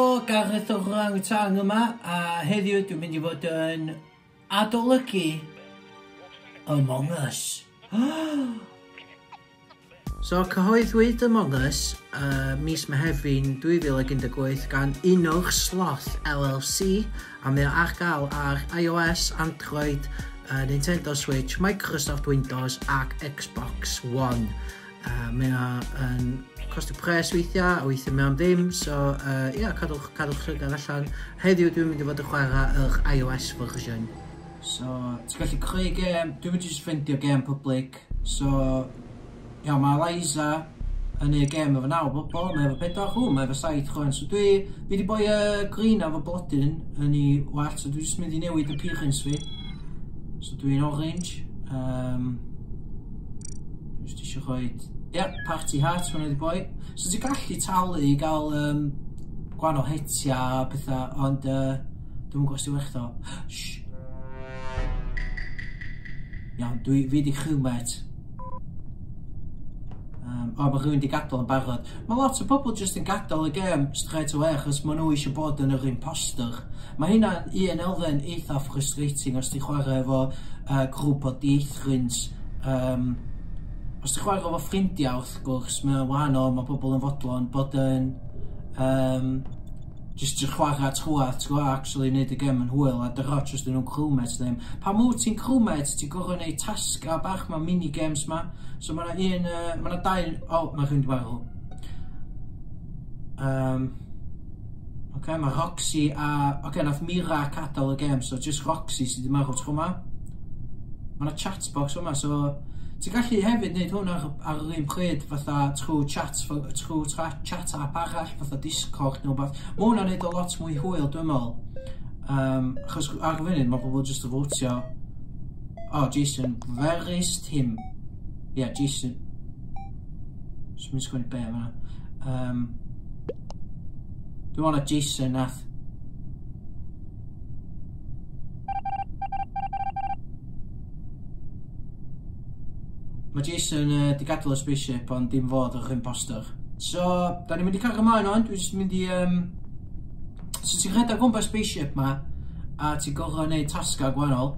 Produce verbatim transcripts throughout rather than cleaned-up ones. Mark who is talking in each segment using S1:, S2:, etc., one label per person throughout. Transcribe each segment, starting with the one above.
S1: Helo, Gareth o'r Orangutan yma, a heddiw dwi'n mynd i fod yn adolygu Among Us. So, cyhoeddwyd Among Us uh, mis Mehefin dwy fil ag un deg wyth gan Innersloth L L C, a mae o ar gael ar iOS, Android, uh, Nintendo Switch, Microsoft Windows ac Xbox One. Uh, mae o yn costio pres weithiau, a weithiau mae am ddim, so uh, yeah, cadwch, cadwch llygad allan. Heddiw dwi'n mynd i fod yn chwarae yr iOS version. So, ti'n gallu creu gêm, dwi'n mynd i just ffeindio gêm public. So, ia, mae Eliza yn ei gêm efo naw bobl, mae efo pedwar, hw, mae efo saith chwan. So dwi, fi wedi boi uh, green efo blodyn yn ei wallt, so dwi'n just mynd i newid appearance fi. So dwi'n orange. Um, Just eisiau rhoi, ia, yeah, party hat, hwnna wedi boi. So ti'n gallu talu i gael um, gwahanol hetiau a pethau, ond uh, dwi'n gwybod os ti'n werth o. Shh. Iawn, dwi, fi di crewmate. Um, o, mae rhywun wedi gadael yn barod. Mae lot o bobl just yn gadael y gêm straight away achos maen nhw eisiau bod yn yr imposter. Mae hynna'n un elfen eitha frustrating os ti'n chwarae efo uh, grŵp o dieithrins. Um, os ti'n chwarae efo ffrindiau wrth gwrs, mae'n wahanol, mae bobl yn fodlon bod yn um, just yn chwarae trwadd, ti'n gwybod, actually neud y gêm yn hwyl, a dyro just yn nhw'n crewmates ddim. Pa mwyd ti'n crewmate, ti'n gorfod neud tasga bach, mae mini-games ma. So mae yna un, uh, mae yna dau, o, oh, mae rhywun wedi marw. Um, Oce, okay, mae Roxy a, oce, okay, nath Mira gadael y gêm, so just Roxy sydd wedi marw tro yma. Mae yna chat box yma, so ti'n gallu hefyd wneud hwn ar, ar yr un pryd fatha trwy chat, trwy chat app arall, fatha Discord neu wbath. Mae hwnna'n neud o lot mwy hwyl, dwi'n meddwl. Um, achos ar y funud mae pobl jyst yn fotio. Oh, Jason, Verist him. Yeah, Jason. So mi'n sgwennu be yma. Um, dwi'n meddwl na Jason nath. Mae Jason uh, di gadael y spaceship, ond dim fod yr imposter. So, da ni'n mynd i cario ymlaen o'n, dwi'n just mynd i... Um... So, ti'n rhedeg gwmpas spaceship ma, a ti'n gorfod gwneud tasgau gwahanol.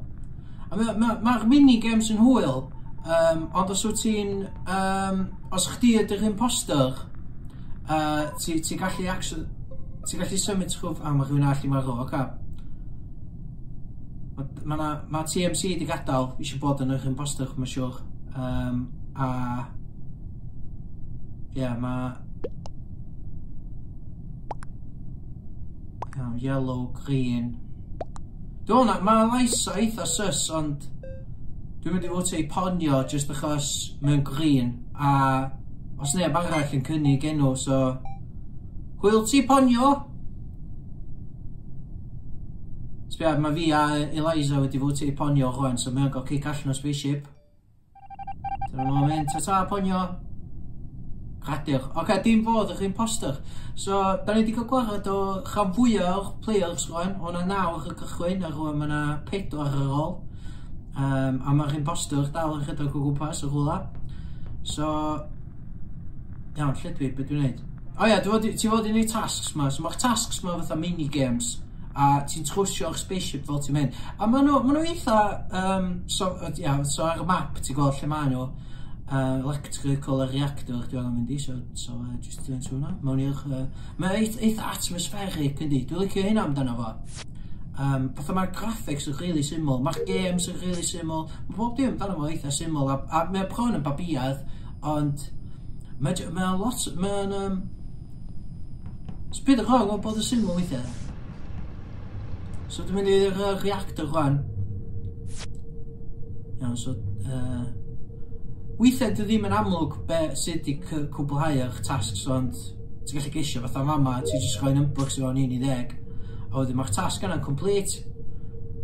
S1: A mae'r ma, ma mini-games yn hwyl, um, ond os wyt ti'n... Um, os chdi ydy'r imposter, uh, ti'n ti gallu actually... Ti'n gallu symud trwy... A, mae rhywun arall i marw, oce. Mae ma, ma T M C di gadael, eisiau bod yn yr imposter, mae'n siŵr. Um, a ie, yeah, mae yeah, yellow, green. Dwi'n meddwl, mae Eliza eitha sus, ond dwi'n mynd i fod i Ponyo just achos mae'n green, a os neb arall yn cynnig enw, so hwyl ti Ponyo! Sbia, mae fi a Eliza wedi fod i Ponyo rwan, so mae'n gael kick allan o spaceship. Dyna fo'n mynd, ta-ta, Ponyo. Gradur. Oce, okay, dim fod yr imposter. So, da ni wedi cael gwared o rhan fwyaf o'r players rwan. O' na naw ar y cychwyn, a rwan mae yna pedwar ar ôl. Um, a mae'r imposter dal yn rhedeg o gwmpas o rhywle. So, iawn, lle dwi, be dwi'n neud? O ia, ti fod i neud tasks ma. So mae'r tasks ma fatha mini-games. A ti'n trwsio'r spaceship fel ti'n mynd. A maen nhw, ma nhw eitha, um, so, yeah, so ar y map ti'n gweld lle maen nhw, uh, electrical a reactor dwi'n angen mynd i, so, so uh, just dwi'n trwy hwnna. Mewn i'r, uh, mae'n eitha, eitha atmospheric yndi, dwi'n licio hynna amdano fo. Um, fatha mae'r graphics yn really syml, mae'r games yn really syml, mae bob dim amdano fo eitha syml, a, a mae'n bron yn babiad, ond mae'n mae lot, mae'n, um, bit wrong o bod yn syml weithiau. So dwi'n mynd i'r uh, reactor rwan. Iawn, so... Uh, weithiau dwi ddim yn amlwg be sut i cwblhau eich tasks, ond ti'n gallu gesio fatha fama, ti'n just rhoi numbers i fewn un i ddeg. A wedyn mae'r tasg yna'n complete.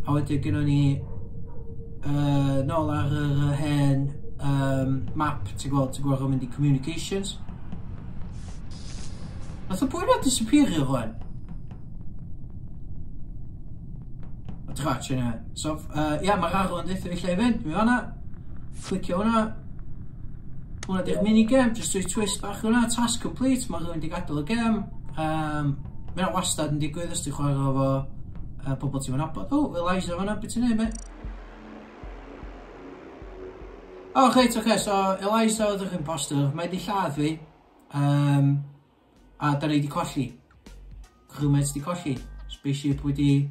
S1: A wedyn gynnon ni uh, nôl ar yr hen um, map, ti'n gweld, ti'n gweld yn mynd i communications. Nath o bwy na disappeario rwan? Trach yna. So, uh, ia, mae'r arrow yn deutha fi lle i fynd. Dwi'n fanna. Clicio hwnna. Hwnna di'r minigame. Just rhoi twist bach hwnna. Task complete. Mae rhywun wedi gadael y gêm. Um, Mae hynna wastad yn digwydd os ti'n chwarae efo uh, pobl ti'n nabod. O, oh, Eliza fan'na, beth ti'n neud, mate? O, oh, reit, oce, okay, so Eliza oedd yr imposter, mae di lladd fi, um, a da ni di colli. Crewmates di colli. Spaceship wedi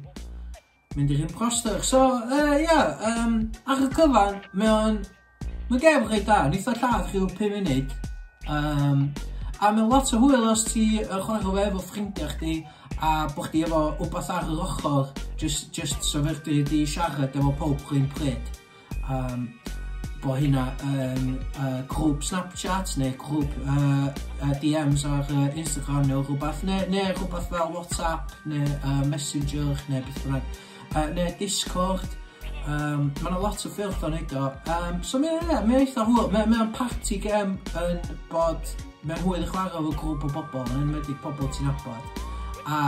S1: mynd i'r imposter. So, uh, yeah, um, ar y cyfan, mae o'n... Mae'n gem reit da, neith o lladd rhyw pum munud. Um, a mae'n lot o hwyl os ti yn chwarae fo efo ffrindiau chdi, a bo chdi efo wbath ar yr ochr, just, just so fedri di siarad efo pob rhywun pryd. Um, bo hynna yn uh, grŵp Snapchat neu grŵp uh, uh, D Ms ar uh, Instagram neu rhywbeth, neu, neu rhywbeth fel WhatsApp neu uh, Messenger neu beth bynnag, uh, neu Discord. Um, mae yna lot o ffyrdd o'n neud o. Um, so mae'n yeah, mae eitha hwyl. Mae'n mae party game yn bod mae'n hwyl i chwarae efo grŵp o bobl, yn enwedig pobl ti'n nabod. A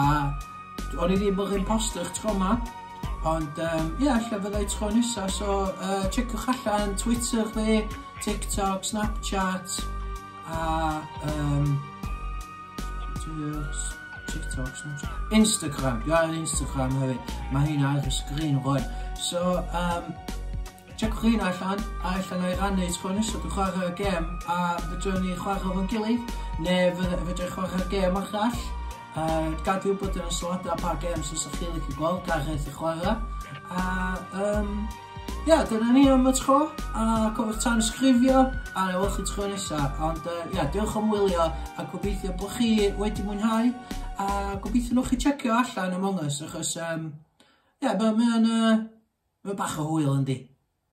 S1: o'n i ddim yr imposter tro yma. Ond, ie, um, yeah, ella fyddai tro nesa, so uh, checiwch allan Twitter fi, TikTok, Snapchat, a um, TikTok, Snapchat, Instagram, dwi ar Instagram hefyd, mae hynna ar y sgrin rwan. So, um, checiwch hynna allan, a ella na i rannu tro nesa, dwi'n chwarae gêm, a fedrwn ni chwarae efo'n gilydd, neu fedrwn ni chwarae gêm arall. Uh, gad fi wybod yn y sylwadau pa games os ydych chi'n licio gweld Gareth i chwarae. A um, ia, dyna ni am y tro. A cofiwch tanysgrifio a na welch chi tro nesa. Ond uh, ia, diolch am wylio a gobeithio bod chi wedi mwynhau. A gobeithio nwch chi checio allan Among Us achos um, ia, mae'n ma, uh, ma bach o hwyl yndi.